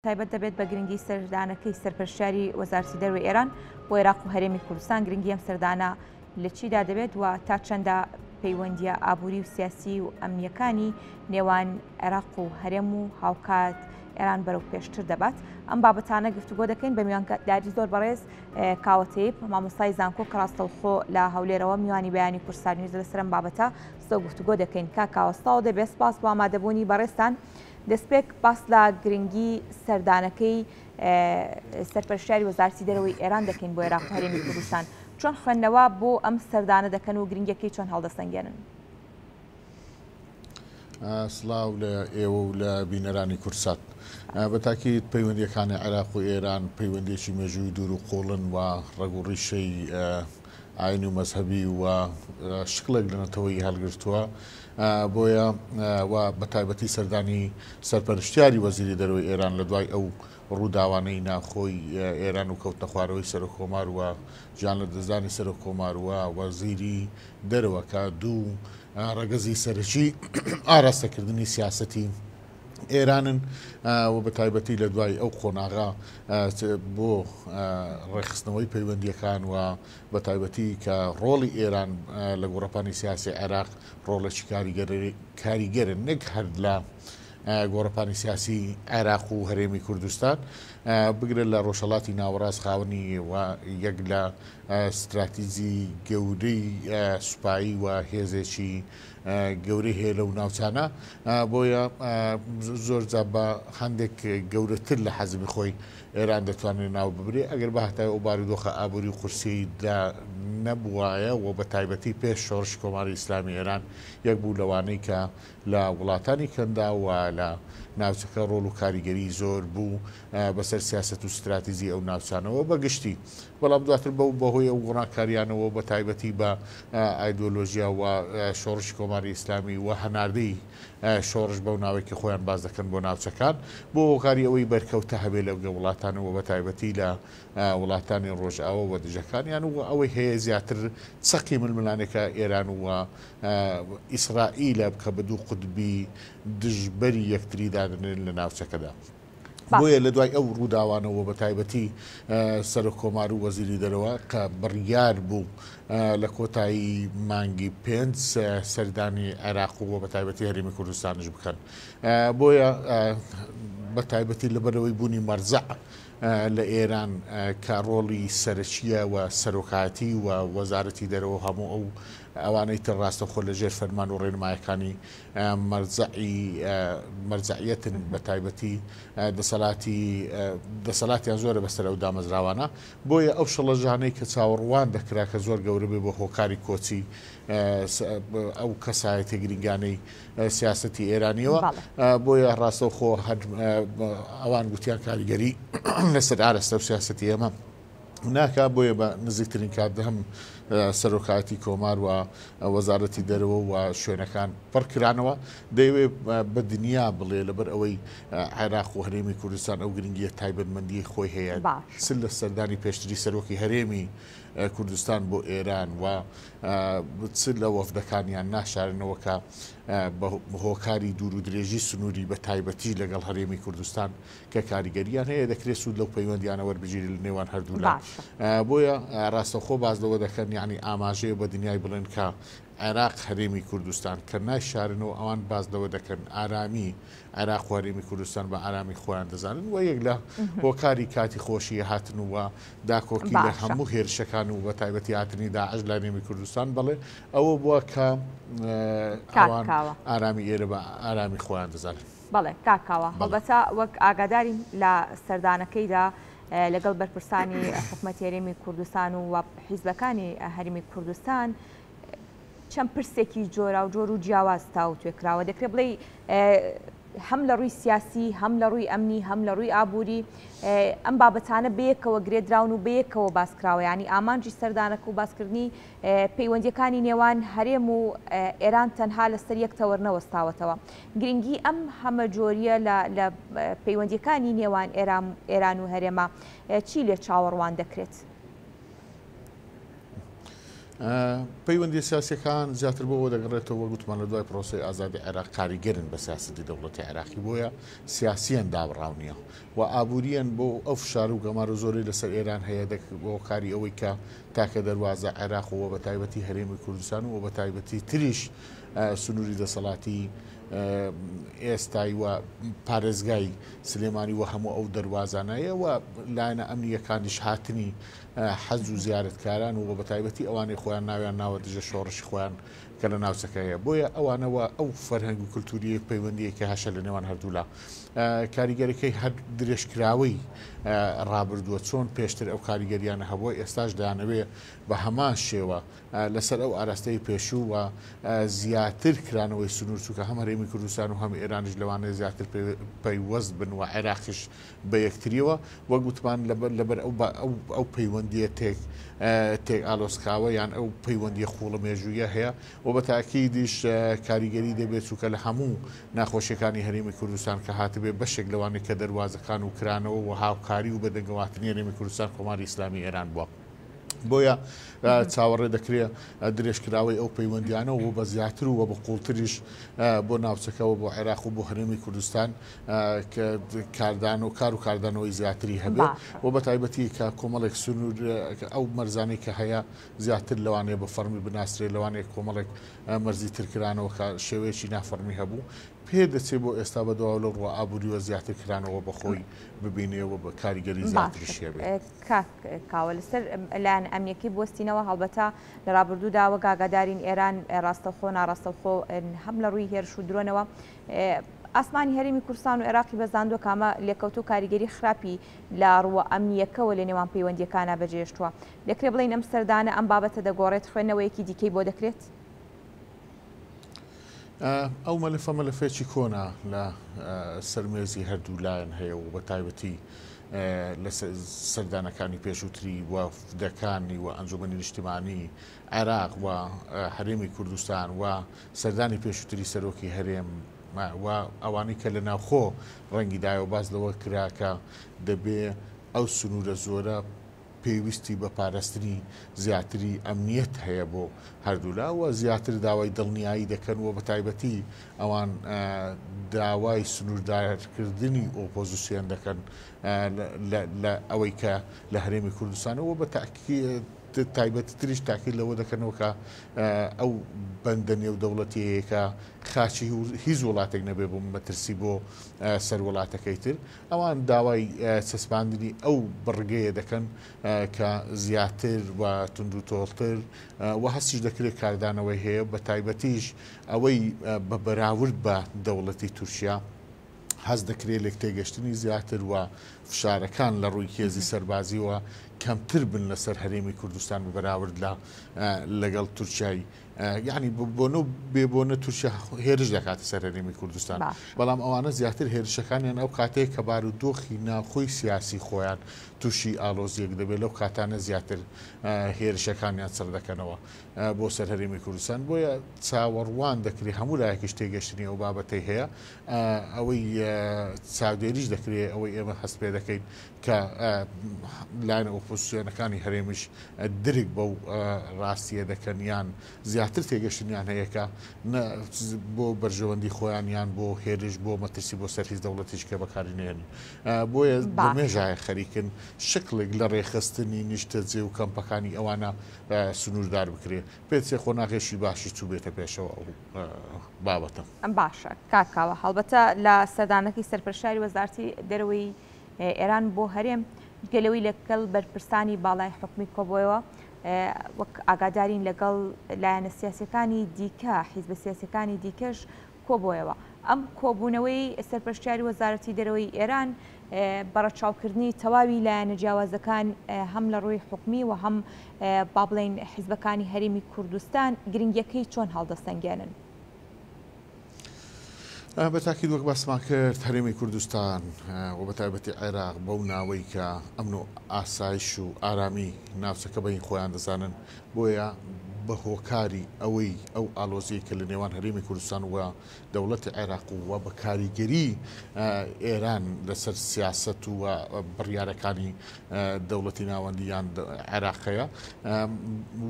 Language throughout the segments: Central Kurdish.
تایبەت دەبێت بە گرنگی سەردانەکەی سەرپەرشتیاری وەزارەتی دەروەی ئێران بۆ عێراق و هەرێمی کوردستان، گرنگی ئەم سەردانە لە چیدا دەبێت و تا چەندە پەیوەندییە ئابووری و سیاسی و ئەمنییەکانی نێوان عێراق و هەرێم و هاوکات ئێران بەرەو پێشتر دەبات؟ ئەم بابەتانە گفتوگۆ دەکەین بە میوانداری زۆر بەڕێز کاوە تەیب، مامۆستای زانکۆ کە ڕاستەوخۆ لە هەولێرەوە میوانی بەیانی کوردستان نیوزە. لەسەر ئەم بابەتە زۆر گفتوگۆ دەکەین. کاک کاوە سڵاو دەبێت، سپاس بۆ ئامادەبوونی بەڕێزتان. دەستپێک باس لە گرنگی سەردانەکەی سەرپەرشتیاری وەزارەتی دەرەوەی ئێران دەکەین بۆ عێراق و هەرێمی کوردستان. چۆن خوێندنەوە بۆ ئەم سەردانە دەکەن و گرنگیەکەی چۆن هەڵدەسەنگێنن؟ سڵاو لە ئێوە و لە بینەرانی کوردسات. بە تاکید پەیوەندییەکانی عێراق و ئێران پەیوەندییەکی مێژووی دوور و قووڵن و ڕەگ و ڕیشەی ئاینی و مەزهەبی و شکڵێک لە نەتەوەیی هەڵگرتووە. بۆیە و بە تایبەتی سەردانی سەرپەرشتیاری وەزیری دەرەوەی ئێران لە دوای ئەو ڕووداوانەی ناوخۆی ئێران و کەوتنەخوارەوەی سەرۆککۆمار و گیانلەدەستدانی سەرۆککۆمار و وەزیری دەرەوە کە دوو ڕەگەزی سەرەکی ئاراستەکردنی سیاسەتی ئێرانن و بە تایبەتی لە دوای ئەو قۆناغە بۆ ڕێکخستنەوەی پەیوەندییەکان و بە تایبەتی کە ڕۆڵی ئێران لە گۆڕەپانی سیاسی عێراق ڕۆڵێکی کاریگەرە نەک هەر لە گۆڕەپانی سیاسی عێراق و هەرێمی کوردستان بگرە لە ڕۆژهەڵاتی ناوەڕاست خاوەنی یەک لە ستراتیجی گەورەی سوپایی و هێزێکی گەورەی هەیە لەو ناوچانە بۆیە زۆر جا بە هەندێک گەورەتر لە حەزمی خۆی ئێران دەتوانێت ناو ببرێ ئەگەر بهاتایە ئەو بارودۆخە ئابووری و قورسیەیدا نەبوایە و بە تایبەتی پێش شۆڕشی کۆماری ئیسلامی ئێران یەک بوو لەوانەی کە لە وڵاتانی کەنداو و لە ناوچەکە ڕۆڵ و کاریگەری زۆر بوو بەسەر سیاسەت و ستراتیجی ئەو ناوچانەوە بە گشتی بەڵام دواتر بەو بەهۆی ئەو گۆڕانکاریانەوە بە تایبەتی بە ئایدۆلۆژیا و شۆڕشی کۆماری ئیسلامی و هەناردەی شۆڕش بەو ناوەی کە خۆیان باس دەکەن بۆ ناوچەکان بۆ هۆکاری ئەوەی بەرکەوتە هەبێ لە وڵاتان و بە تایبەتی لە وڵاتانی ڕۆژئاوا و دژەکانیان و ئەوەی هەیە زیاتر چەقی ململانێکە ئێران و ئیسرائیلە کە بە دوو قوتبی دژبەری یەکتری دادەنرێن لە ناوچەکەدا. بۆیە لە دوای ئەو ڕووداوانەوە بە تایبەتی سەرۆک کۆمار و وەزیری دەرەوە کە بڕیار بوو لە کۆتایی مانگی پێنج سەردانی عێراق و بە تایبەتی هەرێمی کوردستانیش بکەن. بۆیە بە تایبەتی لەبەرئەوەی بوونی مەرجەع لە ئێران کە ڕۆڵی سەرەکییە و سەرۆکایەتی و وەزارەتی دەرەوە و هەموو ئەو ئەوانەی تر ڕاستەوخۆ لە ژێر فەرمان و ڕێنمایەکانی مەرجەعی مەرجەعیەتن بە تایبەتی دەسەڵاتی دەسەڵاتیان زۆرە بەسەر ئەو دامەزراوانە بۆیە ئەو شڵەژانەی کە چاوەڕوان دەکرا کە زۆر گەورە بێ بۆ هۆکاری کۆچی ئەو کەسایەتە گرنگانەی سیاسەتی ئێرانیەوە بۆیە ڕاستەوخۆ هەر ئەوان گوتیان کاریگەری لەسەر ئارەستە و سیاسەتی ئێمە ناکا بۆیە بە نزیکترین کات هەم سەرۆکایەتی کۆمار و وەزارەتی دەرەوە و شوێنەکان پڕکرانەوە دەیەوێ بە دنیا بڵێ لەبەر ئەوەی عێراق و هەرێمی کوردستان ئەو گرنگیە تایبەتمەندی خۆی هەیە چ لە سەردانی پێشتری سەرۆکی هەرێمی کوردستان بۆ ئێران و چ لە وەفدەکانیان ناشارنەوە کە بە هۆکاری دوور و درێژی سنووری بە تایبەتی لەگەڵ هەرێمی کوردستان کە کاریگەریان هەیە دەکرێت سوود لەو پەیوەندیانە وەربگیرێت لە نێوان هەردوولا بۆیە ڕاستەوخۆ باس لەوە دەکەن یعنی ئاماژەیە بە دنیای بڵێن کە عێراق هەرێمی کوردستان کە نایشارنەوە ئەوان باس لەوە دەکەن ئارامی عێراق و هەرێمی کوردستان بە ئارامی خۆیان دەزانن و یەک لە هۆکاری کاتی خۆشی هاتن و داکۆکی لە هەموو هێرشەکان و بە تایبەتی هاتنی داعش لە هەرێمی کوردستان بەڵێ ئەوە بووە کە ئەوان ئارامی ئێرە بە ئارامی خۆیان دەزانن. بەڵێ کاک کاوە، هەڵبەتە وەک ئاگادارین لە سەردانەکەیدا لەگەڵ بەرپرسانی حکومەتی هەرێمی کوردستان و حیزبەکانی هەرێمی کوردستان چەند پرسێکی جۆراوجۆر و جیاواز تاوتوێ کراوە، دەکرێت بڵێی هەم لە ڕووی سیاسی، هەم لە ڕووی ئەمنی، هەم لە ڕووی ئابووری ئەم بابەتانە بەیەکەوە گرێدراون و بەیەکەوە باس کراوە، یانی ئامانجی سەردانەکە و باسکردنی پەیوەندییەکانی نێوان هەرێم و ئێران تەنها لەسەر یەک تەوەر نەوەستاوەتەوە. گرنگی ئەم هەمەجۆرییە لە پەیوەندییەکانی نێوان ئێران و هەرێمە چی لێ چاوەڕوان دەکرێت؟ پەیوەندیە سیاسیەکان زیاتر بۆ ئەوە دەگەڕێتەوە وەک وتمان لە دوای پرۆسەی ئازادی عێراق کاریگەرن بە سیاسەتی دەوڵەتی عێراقی بۆیە سیاسیان دابڕاو نییە و ئابووریان بۆ ئەو فشار و گەمارۆ زۆرەی لەسەر ئێران هەیە دەک بۆ کاری ئەوەی کە تاکە دەروازە عێراق و بە تایبەتی هەرێمی کوردستان و بە تایبەتی تریش سنووری دەسەڵاتی ئێستای و پارێزگای سلێمانی و هەموو ئەو دەروازانەیە و لایەنە ئەمنیەکانیش هاتنی حەج و زیارەتکاران و بەتایبەتی ئەوانەی خۆیان ناویان ناوە دژە شۆڕشی خۆیان کە لە ناوچەکە هەیە بۆیە ئەوانەوە ئەو فەرهەنگ و کللتوریە پەیوەندیە کە هەشە لە نێوان هەردوولا کاریگەرەکەی هەر درێژکراوەی ڕابردووە چۆن پێشتر ئەو کاریگەریانە هەبووە ئێستاش دەیانەوێ بە هەمان شێوە لەسەر ئەو ئاراستەی پێشوو و زیاتر کرانەوەی سنوور چونکە هەم هەرێمی کوردستان و هەم ئێرانیش لەوانەیە زیاتر پەیوەست بن و عێراقیش بە یەکتریەوە وەک وتمان لەبەر لەبەر ئەو ئەو ئەو پەیوەندیە تێک تێک ئالۆزکاوە یان ئەو پەیوەندیە قوڵە مێژوویە هەیە و بە تاکیدیش کاریگەری دەبێت چونکە لە هەموو ناخۆشیەکانی هەرێمی کوردستان کە هاتبێ بەشێک لەوانەی کە دەروازەکان و کرانەوە و هاوکاری و بەدەنگەواتنی هەرێمی کوردستان کۆماری ئیسلامی ئێران بووە. بۆیە چاوەڕێ دەکرێ درێژکراوەی ئەو پەیوەندیانە و بە زیاتر و بە قوڵتریش بۆ ناوچەکەەوە بۆ عێراق و بۆ هەرێمی کوردستان کاردان و کار و کاردانەوەی زیاتری هەبێ و بە تایبەتی کە کۆمەڵێک سنوور ئەو مەرزانەی کە هەیە زیاتر لەوانەیە بە فەرمی بناسرێ لەوانەیە کۆمەڵێک مەرزی ترکرانەوە کە شێوەیەکی نافەرمی هەبوو پێ دەچێ بۆ ئێستا بە دواوە لەو ڕووە ئابووریوە زیاتر کرانەوە بە خۆی ببینێ و بە کاریگەری زیاتریشی هەبێ. کاک کاوە لەسەر لایەنە ئەمنیەکەی بوەستینەوە، هەڵبەتە لە ڕابردوودا وەک ئاگادارین ئێران ڕاستەوخۆ ناڕاستەوخۆ هەم لە ڕووی هێرش و درۆنەوە ئاسمانی هەرێمی کوردستان و عێراقی بەزاندووە کە ئەمە لێکەوتە و کاریگەری خراپی لە ڕووە ئەمنییەکەوە لە نێوان پەیوەندییەکانا بەجێهێشتووە. دەکرێت بڵێین ئەم سەردانە ئەم بابەتە دەگۆڕێت، خوێندنەوەیەکی دیکەی بۆ دەکرێت؟ ئەو مەلەفە مەلەفێکی کۆنە لە سەر مێزی هەردوو لایەن هەیە و بە تایبەتی لە سەردانەکانی پێشووتری وەفدەکانی و ئەنجومەنی نیشتیمانی عێراق و هەرێمی کوردستان و سەردانی پێشووتری سەرۆکی هەرێم و ئەوانەی کە لە ناوخۆ ڕەنگی دایەوە باس لەوە کرا کە دەبێ ئەو سنوورە زۆرە پێویستی بە پاراستنی زیاتری ئەمنیەت هەیە بۆ هەردوولا و زیاتر داوای دڵنیایی دەکەن و بەتایبەتی ئەوان داوای سنووردارکردنی ئۆپۆزیسیۆن دەکەن لە ئەوەی کە لە هەرێمی کوردستانەوە بە تایبەتی تریش تاکید لەوە دەکەنەوە کە ئەو بەندە نێودەوڵەتیەیە کە خاچی هیچ وڵاتێک نەبێ بۆ مەترسی بۆ سەر وڵاتەکەی تر ئەوان داوای چەسپاندنی ئەو بڕگەیە دەکەن کە زیاتر و توندوتۆڵتر و هەستیش دەکرێت کاردانەوەی هەیە بە تایبەتیش ئەوەی بە بەراورد بە دەوڵەتی تورکیا هەست دەکرێت لێکتێگەشتنی زیاتر و فشارەکان لە ڕووی هێزی سەربازیەوە کەمتر بن لەسەر هەرێمی کوردستان بە بەراورد لە لەگەڵ تورکیای یعنی بۆنە و بێ بۆنە تورکیا هێرش دەکاتە سەر هەرێمی کوردستان بەڵام ئەوانە زیاتر هێرشەکانیان ئەو کاتەیە کە بارودۆخی ناوخۆی سیاسی خۆیان تووشی ئالۆزیەک دەبێت لەو کاتانە زیاتر هێرشەکانیان چڕ دەکەنەوە بۆ سەر هەرێمی کوردستان بۆیە چاوەڕوان دەکرێت هەموو لایەکیش تێگەشتنی ئەو بابەتەی هەیە ئەوەی چاودێریش دەکرێت ئەوەی ئێمە هەست پێ دەکەین کە لایەنە ئۆپۆزسیۆنەکانی هەرێمیش درک بەو ڕاستیە دەکەن یان زیاتر تێگەشتنیان هەیە کە بۆ بەرژەوەندی خۆیان یان بۆ هێرش بۆ مەترسی بۆ سەر هیچ دەوڵەتیش کە بەکاری نێن بۆیە مێژایە خەریکن شکڵێک لە ڕێخستنی نیشتەجێ و کەمپەکانی ئەوانە سنووردار بکرێ پێچێ قۆناغێکی باشی چووبێتە پێشەوە ئەو بابەتە. باشە کاک کاوە هەڵبەتە لە سەردانەکەی سەرپەرشتیاری وەزارەتی دەرەوەی ئێران بۆ هەرێم جگە لەوەی لەگەڵ بەرپرسانی باڵای حکومی کۆبۆیەوە وەک ئاگادارین لەگەڵ لایەنە سیاسەکانی دیکە حیزبە سیاسەکانی دیکەش کۆبۆیەوە ئەم کۆبوونەوەی سەرپەرشتیاری وەزارەتی دەرەوەی ئێران بە ڕەچاوکردنی تەواوی لایەنە جیاوازەکان هەم لە ڕووی حکومی و هەم با بڵێین حیزبەکانی هەرێمی کوردستان گرنگیەکەی چۆن هەڵدەسەنگێنن؟ بە تاکید وەک باسمان کرد هەرێمی کوردستان و بە تایبەتی عێراق بەو ناوەی کە ئەمن و ئاسایش و ئارامی ناوچەکە بەین خۆیان دەزانن بۆیە. بە هۆکاری ئەوەی ئەو ئالۆزیەی کە لە نێوان هەرێمی کوردستان و دەوڵەتی عێراق و بە کاریگەری ئێران لەسەر سیاسەت و بڕیارەکانی دەوڵەتی ناوەندی یان عێراق هەیە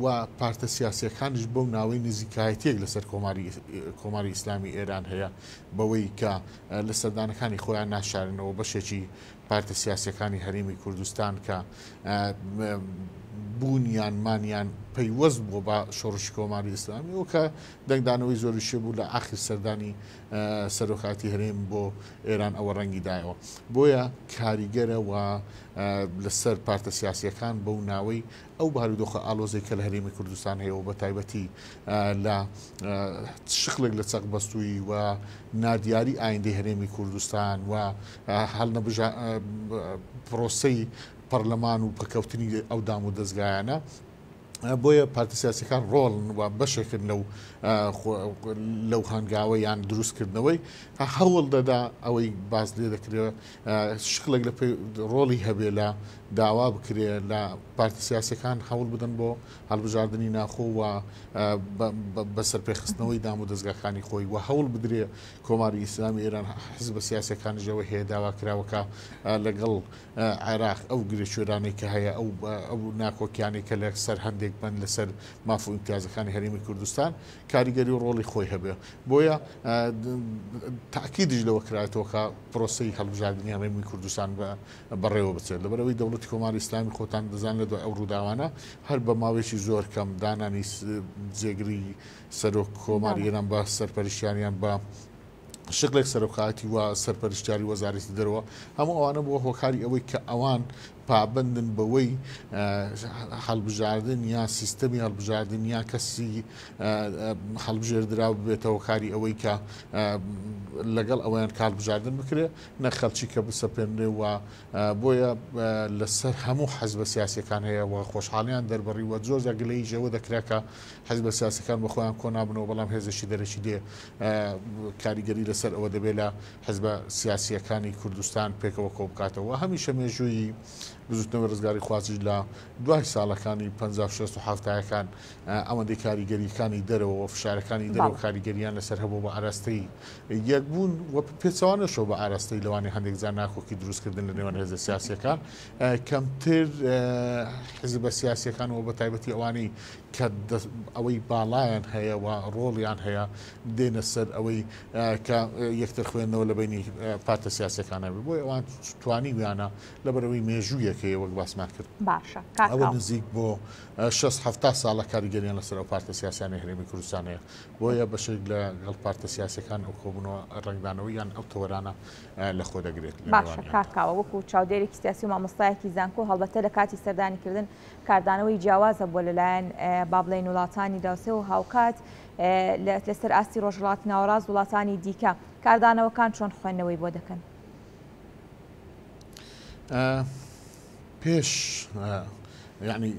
و پارتە سیاسیەکانیش بەو ناوەی نزیکایەتیەک لەسەر کۆماری ئیسلامی ئێران هەیە بەوەی کە لە سەردانەکانی خۆیان ناشارنەوە بەشێکی پارتە سیاسیەکانی هەرێمی کوردستان کە بوونیان مانیان پەیوەست بووە بە شۆڕشی کۆماری ئیسلامی و کە دەنگدانەوەی زۆریشی بوو لە ئاخر سەردانی سەرۆکاتی هەرێم بۆ ئێران ئەوە ڕەنگی دایەوە بۆیە کاریگەرە و لەسەر پارتە سیاسیەکان بەو ناوەی ئەو بارودۆخە ئالۆزەی کە لە هەرێمی کوردستان هەیە و بە تایبەتی لە شکڵێک لە چەق بەستووی و نادیاری ئایندەی هەرێمی کوردستان و هەڵنەبژا پرۆسەی پەرلەمان و پەکەوتنی ئەو دام و دەزگایانە بۆیە پارتە سیاسەکان ڕۆڵن و بەشێکن لەو لەو هەنگاوە یان دروستکردنەوەی هەوڵ دەدا ئەوەی باز لێ دەکرێت شکڵێک لە ڕۆڵی هەبێ لە داوا بکرێ لە پارتە سیاسەکان هەوڵ بدەن بۆ هەڵبژاردنی ناخۆ و بە سەرپێخستنەوەی دام و دەزگاکانی خۆی و هەوڵ بدرێ کۆماری ئیسلامی ئێران حزبە سیاسەکانیشەوە هەیە داوا کراوەکە لەگەڵ عێراق ئەو گرێکوێرانەی کە هەیە ئەو ئەو ناکۆکیانەی کە لە سەر هەندێک بەند لەسەر ماف و ئیمتیازەکانی هەرێمی کوردستان کاریگەری و ڕۆڵی خۆی هەبێ بۆیە تاکیدیش لەوە کرایەتەوە کە پرۆسەی هەڵبژاردنی هەرێمی کوردستان بە بەڕێوە بچێت لەبەرئەوەی دەوڵەتی کۆماری ئیسلامی خۆتان دەزان لە دوای ئەو ڕووداوانە هەر بە ماوەیەکی زۆر کەم دانانی جێگری سەرۆک کۆماری ئێران بە سەرپەرشتیاریان بە شکڵێک سەرۆکایەتی و سەرپەرشتیاری وەزارەتی دەرەوە هەموو ئەوانە بووە هۆکاری ئەوەی کە ئەوان پابەندن بەوەی هەڵبژاردن یان سیستەمی هەڵبژاردن یان کەسی هەڵبژێردراو ببێتە هۆکاری ئەوەی کە لەگەڵ ئەویان کاڵبژاردن بکرێ نە خەڵکی کە بسەپێنرێ و بۆیە لەسەر هەموو حزبە سیاسیەکان هەیە و خۆشحاڵیان دەربڕی و زۆر جار گلەییش ئەوە دەکرا کە حزبە سیاسەکان بە خۆیان کۆنابنەوە بەڵام هێزێکی دەرەکی دێ کاریگەری لەسەر ئەوە دەبێت لە حزبە سیاسیەکانی کوردستان پێکەوە کۆ بکاتەوە هەمیشە مێژووی بزوتنەوەی ڕزگاری خوازیش لە دوای ساڵەکانی 50 60 و حەفتایەکان ئەوەندەی کاریگەریەکانی دەرەوە و فشارەکانی دەرەوە کاریگەریان لەسەر هەبوو بە ئاراستەی یەکبوون و پێچەوانەشەوە بە ئاراستەی لەوانەیە هەندێک جار ناکۆکی دروستکردن لە نێوان هێزە سیاسیەکان کەمتر حزبە سیاسیەکان و بە تایبەتی ئەوانەی کە ئەوەی باڵایان هەیە و ڕۆڵیان هەیە دێنە سەر ئەوەی کە یەکتر خوێندنەوە لە بینی پارتە سیاسەکانە بۆی ئەوان توانیویانە لەبەرەوەی مێژوویەکەی وەک باسمان کرد باشە ئەوە نزیک بۆ 6 هەفتا ساڵە کاریگەریان لەسەر ئەو پارتە سیاسیانەی هەرێمی کوردستان هەیە بۆیە بەشێک لە گەڵ پارتە سیاسیەکان ئەو کۆبوونەوە ڕەنگدانەوەی یان ئەو تەوەرانە لە خۆ دەگرێت لە باشە نێوانیاندا. کاک کاوە وەکو چاودێرێکی سیاسی و مامۆستایەکی زانکۆ هەڵبەتە لە کاتی سەردانی کردن کاردانەوەی جیاواز هەبووە لەلایەن با بڵێین وڵاتانی دراوسێ و هاوکات لەسەر ئاستی ڕۆژهەڵاتی ناوەڕاست وڵاتانی دیکە کاردانەوەکان چۆن خوێندنەوەی بۆ دەکەن؟ پێش یانی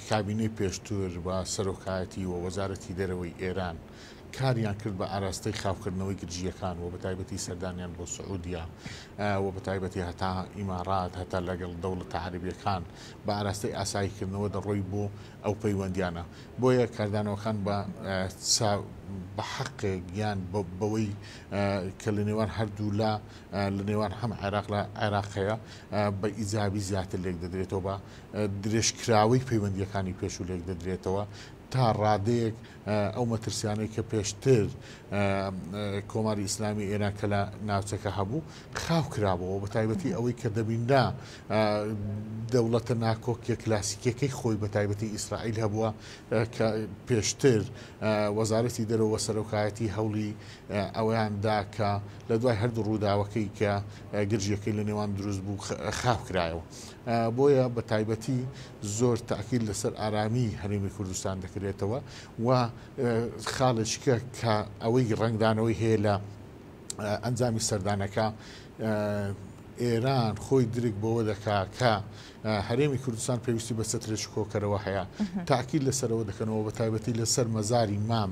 کابینەی پێشتر و سەرۆکایەتی و وەزارەتی دەرەوەی ئێران کاریان کرد بە ئاراستەی خاوکردنەوەی گرژییەکان و بەتایبەتی سەردانیان بۆ سعودیا و بەتایبەتی هەتا ئیمارات هەتا لەگەڵ دەوڵەتە عەرەبیەکان بە ئاراستەی ئاساییکردنەوە دەڕۆی بۆ ئەو پەیوەندیانە بۆیە کاردانەوەکان بە بە حەقێک یان بەوەی کە لە نێوان هەردوولا لە نێوان هەم عێراق لە عێراق هەیە بە ئیجابی زیاتر لێک دەدرێتەوە بە درێژکراوەی پەیوەندیەکانی پێشوو لێک دەدرێتەوە تا ڕادەیەک ئەو مەترسیانەی کە پێشتر کۆماری ئیسلامی ئێران کە لە ناوچەکە هەبوو خاو کرابەوە بە تایبەتی ئەوەی کە دەبینرا دەوڵەتە ناکۆکیە کلاسیکیەکەی خۆی بە تایبەتی ئیسرائیل هەبووە کە پێشتر وەزارەتی دەرەوە سەرۆکایەتی هەوڵی ئەوەیان دا کە لە دوای هەردوو ڕووداوەکەی کە گرژیەکەی لە نێوان دروست بوو خاو کرایەوە. بۆیە بە تایبەتی زۆر تاکید لەسەر ئارامی هەرێمی کوردستان دەکرێتەوە و خاڵێکە کە ئەوەی ڕەنگدانەوەی هەیە لە ئەنجامی سەردانەکە ئێران خۆی درک بەوە دەکا کە هەرێمی کوردستان پێویستی بە چەترێکی کۆکەرەوە هەیە تاکید لەسەرەوە دەکەنەوە بە تایبەتی لەسەر مەزاری مام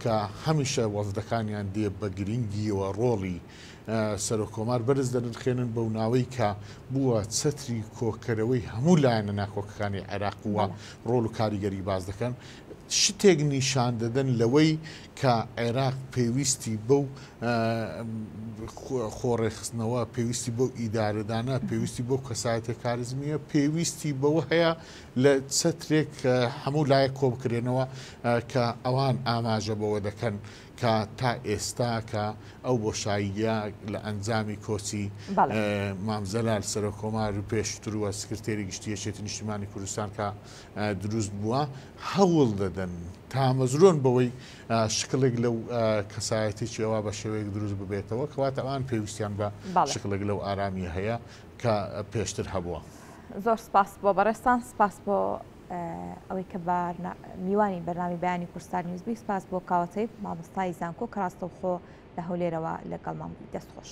کە هەمیشە وەفدەکانیان دێ بە گرنگیەوە ڕۆڵی سەرۆک کۆمار بەرز دەنرخێنن بەو ناوەی کە بووە چەتری کۆکەرەوەی هەموو لایەنە ناکۆکەکانی عێراق و ڕۆڵ و کاریگەری باز دەکەن. شتێک نیشان دەدەن لەوەی کە عێراق پێویستی بەو خۆڕێکخستنەوە، پێویستی بەو ئیدارەدانە، پێویستی بەو کەسایەتیە کاریزمییە، پێویستی بەوە هەیە لە چەترێک هەموو لایەک کۆبکرێنەوە کە ئەوان ئاماژە بەوە دەکەن کە تا ئێستا کە ئەو بۆشاییە لە ئەنجامی کۆچی مام جەلال سەرۆک کۆمار و پێشتر و سکرتێری گشتی یەکێتی نیشتیمانی کوردستان کە دروست بووە هەوڵ دەدەن تامەزرۆن بەوەی شکڵێک لەو کەسایەتێکی ئەوە بە شێوەیەک دروست ببێتەوە کەواتە ئەوان پێویستیان بە شکڵێک لەو ئارامیە هەیە کە پێشتر هەبووە. زۆر سپاس بۆ بەڕێزتان، سپاس بۆ ئەوەی کە میوانی بەرنامی بەیانی کوردستان نیوز بووی، سپاس بۆ کاوە تەیب مامۆستای زانکۆ کە ڕاستەوخۆ لە هەولێرەوە لەگەڵمان بووی. دەست خۆش.